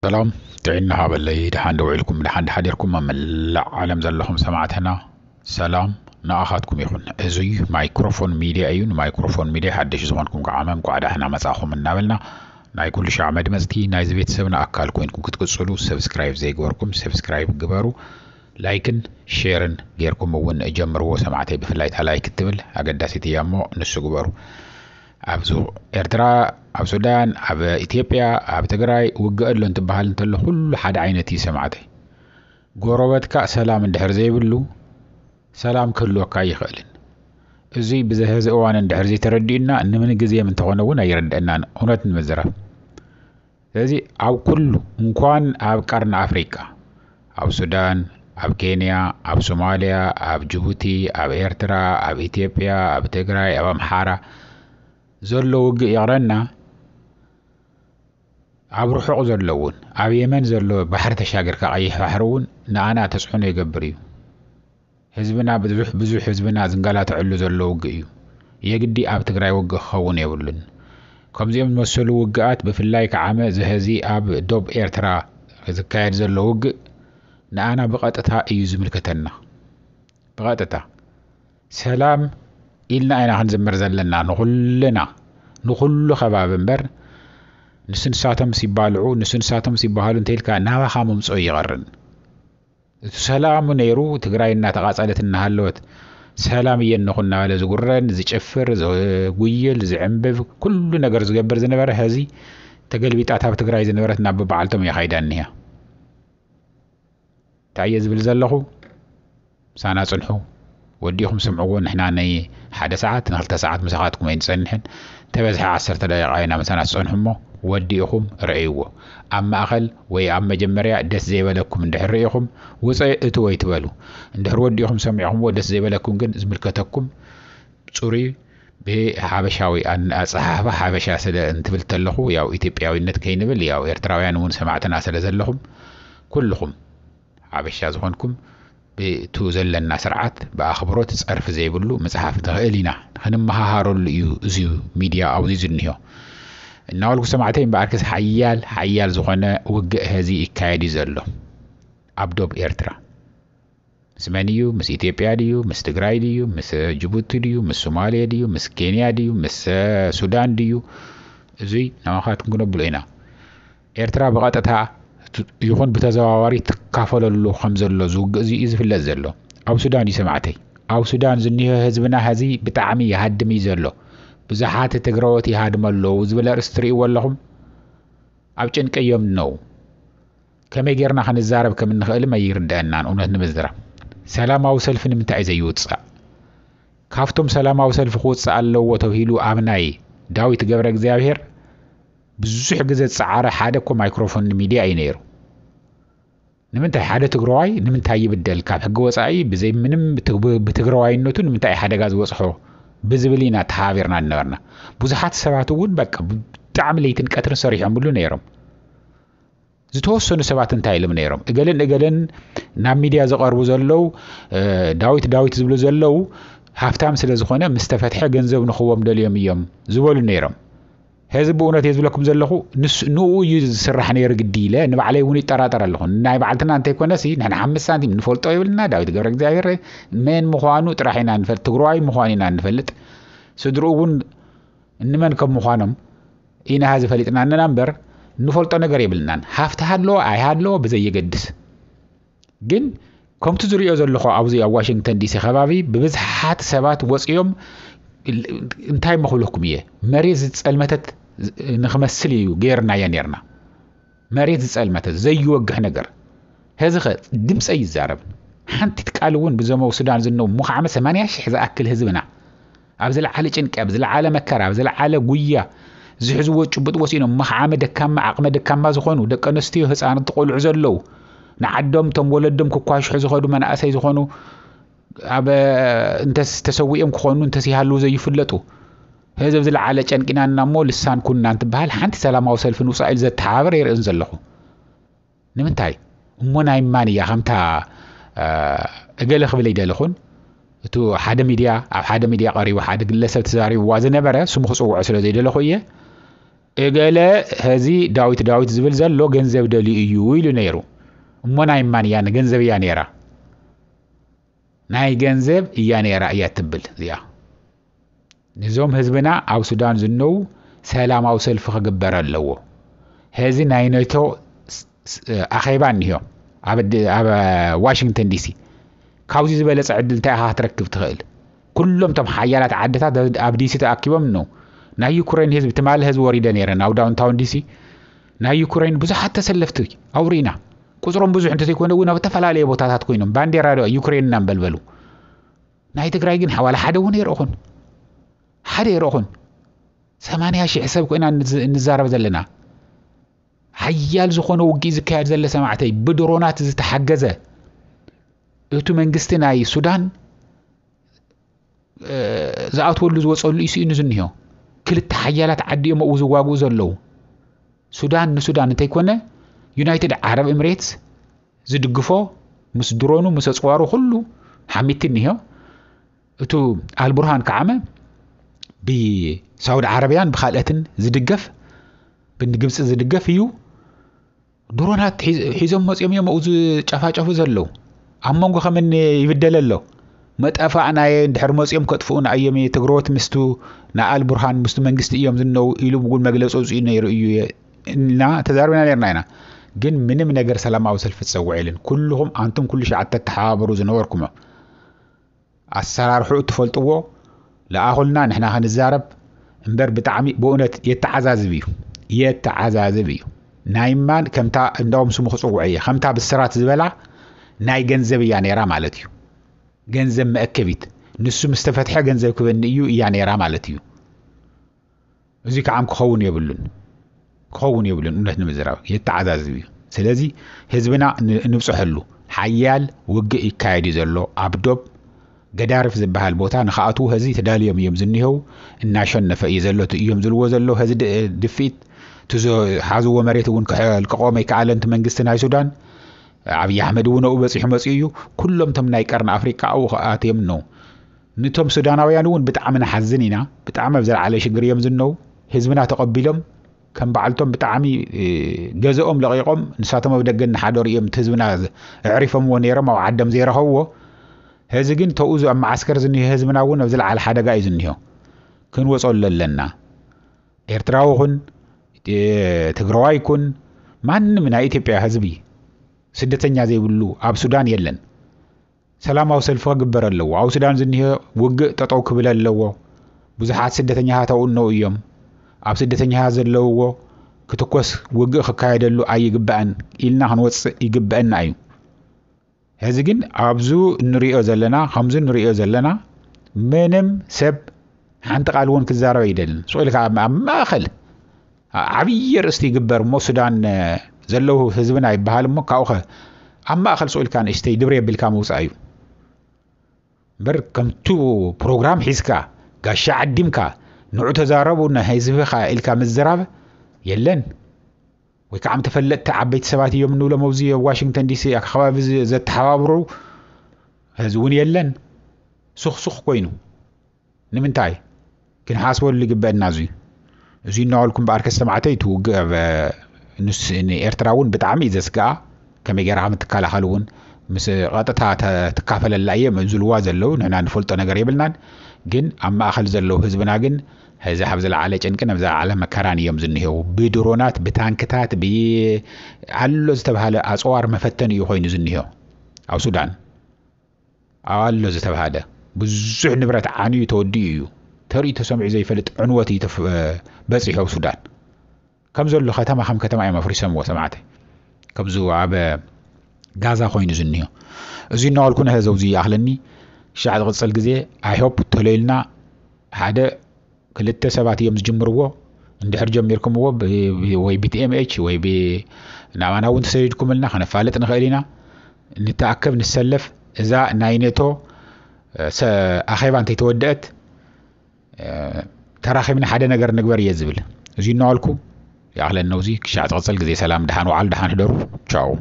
ሰላም ጥዕና ሃበለይ። ደሓን ደውዒልኩም፣ ደሓን ደሓዲርኩም ኣብ መላእ ዓለም ዘለኹም ሰማዕትና፣ ሰላም ንኣኻትኩም ይኹን። እዙይ ማይክሮፎን ሚድያ እዩ። ንማይክሮፎን ሚድያ ሓደሽ ዝኾንኩም ከዓ እንኳዕ ደሓና መጻኹም እናበልና፣ ናይ ኩሉ ሻዕ መድመፅቲ ናይዚ ቤተሰብና ኣካል ኮይንኩም ክትቅፅሉ፣ ሰብስክራይብ ዘይገበርኩም ሰብስክራይብ ግበሩ። ላይክን ሼርን ጌርኩም እውን ጀምርዎ ሰማዕተይ። ብፍላይ እታ ላይክ እትብል ኣገዳሲት እያ እሞ ንሱ ግበሩ። ኣብ ሱ- ኤርትራ፣ ኣብ ሱዳን፣ ኣብ ኢትዮጵያ፣ ኣብ ትግራይ ውግእ ኣሎ እንትበሃል እንተሎ ኩሉ ሓደ ዓይነት እዩ ሰማዕተይ። ጎረበትካ ሰላም እንድሕር ዘይብሉ ሰላም ክህልወካ ኣይኽእልን። እዙይ ብዘ- ሕዚ እዋን እንድሕር ዘይተረዲኡና ንምንግዜም እንተኾነ እውን ኣይርድአናን፣ እውነት ንምዝራብ። ስለዚ ኣብ ኩሉ እንኳን ኣብ ቀርኒ ኣፍሪቃ፣ ኣብ ሱዳን፣ ኣብ ኬንያ፣ ኣብ ሶማልያ፣ ኣብ ጅቡቲ፣ ኣብ ኤርትራ፣ ኣብ ኢትዮጵያ፣ ኣብ ትግራይ፣ ኣብ ኣምሓራ ዘሎ ውግእ ይቕረና፣ ኣብ ርሑቕ ዘሎ እውን፣ ኣብ የመን ዘሎ ባሕሪ ተሻገርካ ቀይሕ ባሕሪ እውን ንኣና ተፅዕኖ ይገብር እዩ። ህዝብና ብዙሕ ብዙሕ ህዝብና ዝንገላተዐሉ ዘሎ ውግእ እዩ። የግዲ ኣብ ትግራይ ውግእ ክኸውን የብሉን። ከምዚኦም ዝመሰሉ ውግኣት ብፍላይ ከዓመ ዝሀዚ ኣብ ዶብ ኤርትራ ዝካየድ ዘሎ ውግእ ንኣና ብቐጥታ እዩ ዝምልከተና። ብቐጥታ ሰላም ኢልና ኢና ክንዝምር ዘለና ንኹልና፣ ንኹሉ ከባቢ እምበር ንሱ ንሳቶም ሲባልዑ ንሱ ንሳቶም ሲባሃሉ እንተኢልካ ናባኻ ምምፅኦ ይቐርን። እቲ ሰላሙ ነይሩ ትግራይ እናተቓፀለት እናሃለወት ሰላም እየነኹ እናበለ ዝጉረን ዝጭፍር ዝጉይል ዝዕንብብ ኩሉ ነገር ዝገብር ዝነበረ ሀዚ ተገልቢጣት ኣብ ትግራይ ዝነበረት ናብ በዓልቶም እያ ካይዳ እኒሃ። እንታይ እየ ዝብል ዘለኹ? ምሳና ፅንሑ። ወዲኹም ስምዕዎ። ንሕና ናይ ሓደ ሰዓት ንክልተ ሰዓት ምሳኻትኩም ኣይንፀንሕን። ተበዝሐ ዓሰርተ ደቂቃ ኢና ምሳና ትፀንሑ እሞ ወዲእኹም ረእይዎ። ኣብ ማእኸል ወይ ኣብ መጀመርያ ደስ ዘይበለኩም እንድሕር ርኢኹም ውፀ እትወ ኣይትበሉ። እንድሕር ወዲእኹም ሰሚዕኹምዎ ደስ ዘይበለኩም ግን ዝምልከተኩም ፅሩይ ብሓበሻዊ ኣን- ኣፀሓሕፋ ሓበሻ ስለ እንትብል ተለኹ ያው ኢትዮጵያዊነት ከይንብል ያው ኤርትራውያን እውን ሰማዕትና ስለ ዘለኹም ኩልኹም ሓበሻ ዝኾንኩም ብቱ ዘለና ስርዓት ብኣኽብሮት ጸርፊ ዘይብሉ ምጽሓፍ ንኽእል ኢና። ክንመሃሃረሉ እዩ እዚ ሚድያ ኣብዚ ዝኒሆ። እናበልኩ ሰማዕተይ እምበኣርከስ ሓያል ሓያል ዝኾነ ውግእ ሀዚ ይካየድ እዩ ዘሎ ኣብ ዶብ ኤርትራ። ምስ መን እዩ? ምስ ኢትዮጵያ ድዩ? ምስ ትግራይ ድዩ? ምስ ጅቡቲ ድዩ? ምስ ሶማሌ ድዩ? ምስ ኬንያ ድዩ? ምስ ሱዳን ድዩ? እዙይ ናባኻትኩም ክነብሎ ኢና። ኤርትራ ብቐጥታ ይኹን ብተዘዋዋሪ ትካፈለሉ ከም ዘሎ ዝውግእ እዚ እዩ ዝፍለጥ ዘሎ። ኣብ ሱዳን እዩ ሰማዕተይ። ኣብ ሱዳን ዝኒሆ ህዝብና ሀዚ ብጣዕሚ ይሃድም እዩ ዘሎ። ብዙሓት ትግረዎት ይሃድሙ ኣለዉ ዝብል ኣርእስቲ ትርእይዎ ኣለኹም። ኣብ ጭንቂ እዮም ነው። ከመይ ጌርና ክንዛረብ ከም እንኽእልም ኣይርድአናን። እውነት ንምዝራብ ሰላማዊ ሰልፊ ንምንታይ እዩ ዘይውፃእ? ካብቶም ሰላማዊ ሰልፊ ክውፅእ ኣለዎ ተብሂሉ ኣብ ናይ ዳዊት ገብረ እግዚኣብሔር ብዙሕ ግዜ ዝፀዓረ ሓደ እኮ ማይክሮፎን ሚድያ እዩ ነይሩ። ንምንታይ ሓደ ትግራዋይ ንምንታይ ይብደል? ካብ ሕጊ ወፃኢ ብዘይ ምንም ብትግ- ብትግራዋይነቱ ንምንታይ ሓደጋ ዝበፅሖ ብዝብል ኢና ተሓባቢርና ዝነበርና። ብዙሓት ሰባት እውን በቃ ብጣዕሚ ለይትን ቀትርን ሰሪሖምሉ ነይሮም። ዝተወሰኑ ሰባት እንታይ ኢሎም ነይሮም? እገለን እገለን ናብ ሚድያ ዝቐርቡ ዘለዉ እ፣ ዳዊት ዳዊት ዝብሉ ዘለዉ ሃፍታም ስለ ዝኾነ ምስ ተፈትሐ ገንዘብ ንኽቦም ደልዮም እዮም ዝበሉ ነይሮም። ሕዚ ብእውነት እየ ዝብለኩም ዘለኹ ንስ- ንኡ እዩ ዝስራሕ ነይሩ ግዲ ኢለ ንባዕለይ እውን ይጠራጠር ኣለኹ። ናይ ባዕልትና እንተይኮነሲ ንሕና ሓምስት ሳንቲም ንፈልጦ የብልና። ዳዊት ገብረ እግዚኣብሔር መን ምዃኑ ጥራሕ ኢና ንፈልጥ፣ ትግራዋይ ምዃኑ ኢና ንፈልጥ። ስድርኡ እውን እንመን ከም ምዃኖም ኢና ሀዚ ፈሊጥና እንና እምበር ንፈልጦ ነገር የብልናን። ሃፍቲ ሃለዎ ኣይሃለዎ ብዘየገድስ ግን ከምቲ ዝሪኦ ዘለኹ ኣብዚ ኣብ ዋሽንግተን ዲሲ ከባቢ ብብዝሓት ሰባት ወፂኦም እንታይ መኽብለኩም እየ መሬት ዝፀልመተት ንክመስል እዩ ገይርናዮ ነይርና። መሬት ዝፀልመተት ዘይወግሕ ነገር። ሕዚ ኸ ድምፀይ ይዛረብ። ሓንቲ ቃል እውን ብዞም ኣብ ሱዳን ዝነው ሙኻዕመ ሰማንያ ሽሕ ዝኣክል ህዝብና ኣብ ዝለዓለ ጭንቂ፣ ኣብ ዝለዓለ መከራ፣ ኣብ ዝለዓለ ጉያ ዝሕዝዎ ጭቡጥ ወሲኖም መኽዓመ ደካማ፣ ዓቕመ ደካማ ዝኾኑ ደቂ ኣንስትዮ፣ ህፃናት ቆልዑ ዘለዉ ንዓዶም እቶም ወለዶም ክኳሽሑ ዝኸዱ መናእሰይ ዝኾኑ ኣብ እንተስ ተሰዊኦም ክኾኑ እንተስ ይሃልዉ ዘይፍለጡ ህዝብ ዝለዓለ ጨንቂናና እሞ ልሳን ኩንና እንትበሃል ሓንቲ ሰላማዊ ሰልፊ ንውፃእ ኢሉ ዘተሓባበር የርእን ዘለኹ። ንምንታይ እሞ ናይ ማን እያ ከምታ እ፣ እገለ ክብል ኣይደለኹን። እቱ ሓደ ሚድያ ኣብ ሓደ ሚድያ ቀሪቡ ሓደ ግለሰብ ተዛሪብዋ ዝነበረ ስሙ ክፅውዖ ስለ ዘይደለኹ እየ። እገለ ሀዚ ዳዊት ዳዊት ዝብል ዘሎ ገንዘብ ደልዩ እዩ ኢሉ ነይሩ። እሞ ናይ ማን እያ? ገንዘብ እያ ነይራ። ናይ ገንዘብ እያ ነይራ እያ ትብል እዚኣ። ንዞም ህዝብና ኣብ ሱዳን ዝነው ሰላማዊ ሰልፊ ክግበር ኣለዎ። ሀዚ ናይ ኔቶ ስ- ስ- ኣኼባ እኒሆ ኣብ ድ- ኣብ ዋሽንግተን ዲሲ። ካብዚ ዝበለፀ ዕድል እንታይ ኢኻ ክትረክብ ትኽእል? ኩሎም እቶም ሓያላት ዓድታት ኣብ- ኣብ ዲሲ ተኣኪቦም ነው። ናይ ዩክሬን ህዝቢ ትማሊ ህዝቢ ወሪደ ነይረ ናብ ዳውንታውን ዲሲ። ናይ ዩክሬን ብዙሓት ተሰለፍቲ ኣውሪና። ቁፅሮም ብዙሕ እንተዘይኮነ እውን ኣብ ዝተፈላለየ ቦታታት ኮይኖም ባንዴራ ዶ ዩክሬን እናንበልበሉ። ናይ ትግራይ ግን ሓዋላ ሓደ እውን የርእኹን። ሓደ የርእኹን። ሰማንያ ሺሕ ሰብ ኮይና እንዝ- እንዛረብ ዘለና። ሓያል ዝኾነ ውግእ ዝካየድ ዘለ ሰማዕተይ ብድሮናት ዝተሓገዘ። እቱ መንግስቲ ናይ ሱዳን ዝኣትወሉ ዝወፀሉ እዩ ስኢኑ ዝኒሆ። ክልተ ሓያላት ዓዲ እዮም ኣብኡ ዝዋግኡ ዘለዉ። ሱዳን ንሱዳን እንተይኮነ ዩናይትድ ዓረብ ኤምሬትስ ዝድግፎ ምስ ድሮኑ ምስ ኣፅዋሩ ኩሉ ሓሚቲ እኒሆ። እቱ ኣልቡርሃን ከዓመ ብሳውዲ ዓረብያን ብካልኦትን ዝድገፍ ብግብፂ ዝድገፍ እዩ። ድሮናት ሒዝ- ሒዞም መፂኦም እዮም ኣብኡ ዝጨፋጨፉ ዘለዉ። ኣብ መንጎ ከመን ይብደል ኣሎ? መጠፋእናየ እንድሕር መፂኦም ከጥፍኡና እዮም ትግረዎት ምስቱ ንኣል ቡርሃን ምስቱ መንግስቲ እዮም ዝነው ኢሉ እውን መግለፂ ኣውፅኡ ነይሩ እዩ እና ተዛርብና ነርና ኢና። ግን ምንም ነገር ሰላማዊ ሰልፊ ትፀውዕ የለን። ኩልኹም ኣንቱም ኩሉ ሸዓተ ተሓባበሩ ዝነበርኩም ኣሰራርሑ እትፈልጥዎ ለኣኹልና ንሕና ክንዛረብ እምበር ብጣዕሚ ብእውነት የተዓዛዝብ እዩ። የተዓዛዝብ እዩ። ናይ ማን ከምታ እንዳውም ስሙ ክፅውዕ እየ ከምታ ብስራት ዝበላ ናይ ገንዘብ እያ ነይራ ማለት እዩ። ገንዘብ መእከቢት ንሱ ምስ ተፈትሐ ገንዘብ ክበኒ እዩ እያ ነይራ ማለት እዩ። እዚ ከዓም ክኸውን የብሉን ክኸውን የብሉን። እውነት ንምዝራብ የተዓዛዝብ እዩ። ስለዚ ህዝብና ን- ንብፅሐሉ ሓያል ውግእ ይካየድ እዩ ዘሎ ኣብ ዶብ ገዳርፍ ዝበሃል ቦታ ንክኣትዉ ህዚ ተዳልዮም እዮም ዝኒሄው። እናሸነፈ እዩ ዘሎ እቲ እዮም ዝልዎ ዘለዉ ህዚ ድ- ድፍኢት እቲ ዝሓዝዎ መሬት እውን ክልቅቖም ኣይከኣለን እቲ መንግስቲ ናይ ሱዳን። ኣብይ ኣሕመድ እውን ኣብኡ በፂሑ መፂኡ እዩ። ኩሎም እቶም ናይ ቀርኒ ኣፍሪቃ ኣብኡ ክኣትዮም ነው። ንቶም ሱዳናውያን እውን ብጣዕሚ ንሓዝን ኢና። ብጣዕሚ ኣብ ዝለዓለ ሽግር እዮም ዝነው። ህዝብና ተቐቢሎም ከም በዓልቶም ብጣዕሚ ገዘኦም ለቒቖም ንሳቶም ኣብ ደገ እናሓደሩ እዮም እቲ ህዝብና ኣዕሪፎምዎ ነይሮም ኣብ ዓዶም ዘይረኸብዎ። ሕዚ ግን ተውዙ ኣብ መዓስከር ዝኒሀ ህዝብና እውን ኣብ ዝለዓለ ሓደጋ እዩ ዝኒሆ። ክንወፀሉ ኣለና። ኤርትራዊ ኩን ትግራዋይ ኩን ማንም ናይ ኢትዮጵያ ህዝቢ ስደተኛ ዘይብሉ ኣብ ሱዳን የለን። ሰላማዊ ሰልፊ ክግበር ኣለዎ። ኣብ ሱዳን ዝኒሀ ውግእ ጠጠው ክብል ኣለዎ። ብዙሓት ስደተኛታት ኣብኡ እነው እዮም። ኣብ ስደተኛታት ዘለውዎ ክትኮስ ውግእ ክካየደሉ ኣይግባእን ኢልና ክንወፅእ ይግበአና እዩ። ሕዚ ግን ኣብዚ እንሪኦ ዘለና ከምዚ እንሪኦ ዘለና ምንም ሰብ ሓንቲ ቃል እውን ክዛረብ ኣይደልን። ስቕ ኢልካ ኣብ ኣብ ማእኸል ዓብዪ ኣርእስቲ ይግበር እሞ ሱዳን ዘለዉ ህዝብና ይበሃል እሞ ካብኡ ኸ ኣብ ማእኸል ስቕ ኢልካ ንእሽተይ ድብር የቢልካ ምውፃእ እዩ እምበር ከምቱ ፕሮግራም ሒዝካ ጋሻ ዓዲምካ ንዑ ተዛረቡ ንህዝብኻ ኢልካ ምዝራብ የለን። ወይ ከዓ ተፈለጥቲ ዓበይቲ ሰባት እዮም እንብሎም ኣብዚ ኣብ ዋሽንግተን ዲሲ ከባቢ ዘተሓባብሩ ህዚ እውን የለን። ሱኽሱኽ ኮይኑ ንምንታይ ክንሓስበሉ ይግበአና። እዚ እዚ እናበልኩ እምበኣር ከስተማዕተይ እቲ ውግእ ኣብ ንስ ንኤርትራ እውን ብጣዕሚ እዩ ዘስግኣ። ከመይ ገይራ ከም ትከላኸል እውን ምስ ቀጥታ ትካፈለላ እየ ዝልዋ ዘለዉ ንሕና ንፈልጦ ነገር የብልናን። ግን ኣብ ማእኸል ዘለዉ ህዝብና ግን ሕዚ ካብ ዝለዓለ ጭንቅን ኣብ ዝለዓለ መከራን እዮም ዝኒሄው። ብድሮናት ብታንክታት ብ ኣሎ ዝተባሃለ ኣፅዋር መፈተኒ እዩ ኮይኑ ዝኒሄው ኣብ ሱዳን። ኣሎ ዝተባሃለ ብዙሕ ንብረት ዓንዩ ተወዲኡ እዩ። ተርእዩ ተሰሚዑ ዘይፈልጥ ዕንወት እዩ በፂሑ ኣብ ሱዳን። ከም ዘሎ ከተማ ከም ከተማ እዮም ኣፍሪሶምዎ ሰማዕተይ። ከምዚ ኣብ ጋዛ ኮይኑ ዝኒሆ እዚ እናበልኩ ነሀ ዘውዚ ይኣኽለኒ። ክሻዕ ዝቕፅል ግዜ ኣይሆፕ ተለይልና ሓደ ክልተ ሰባት እዮም ዝጅምርዎ። እንድሕር ጀሚርኩምዎ ወይ ብቲኤምኤች ወይ ናባና እውን ተሰዲድኩምልና ከነፋልጥ ንኽእል ኢና። ንተኣከብ ንሰለፍ። እዛ ናይ ኔቶ ኣኼባ እንተይተወደአት ተራኺብና ሓደ ነገር ንግበር እየ ዝብል። እዚ እናበልኩ ይኣኽለኒ ነውዚ ክሻዕ ዝቕፅል ግዜ ሰላም ደሓን ዋዓሉ ደሓን ሕደሩ። ቻው።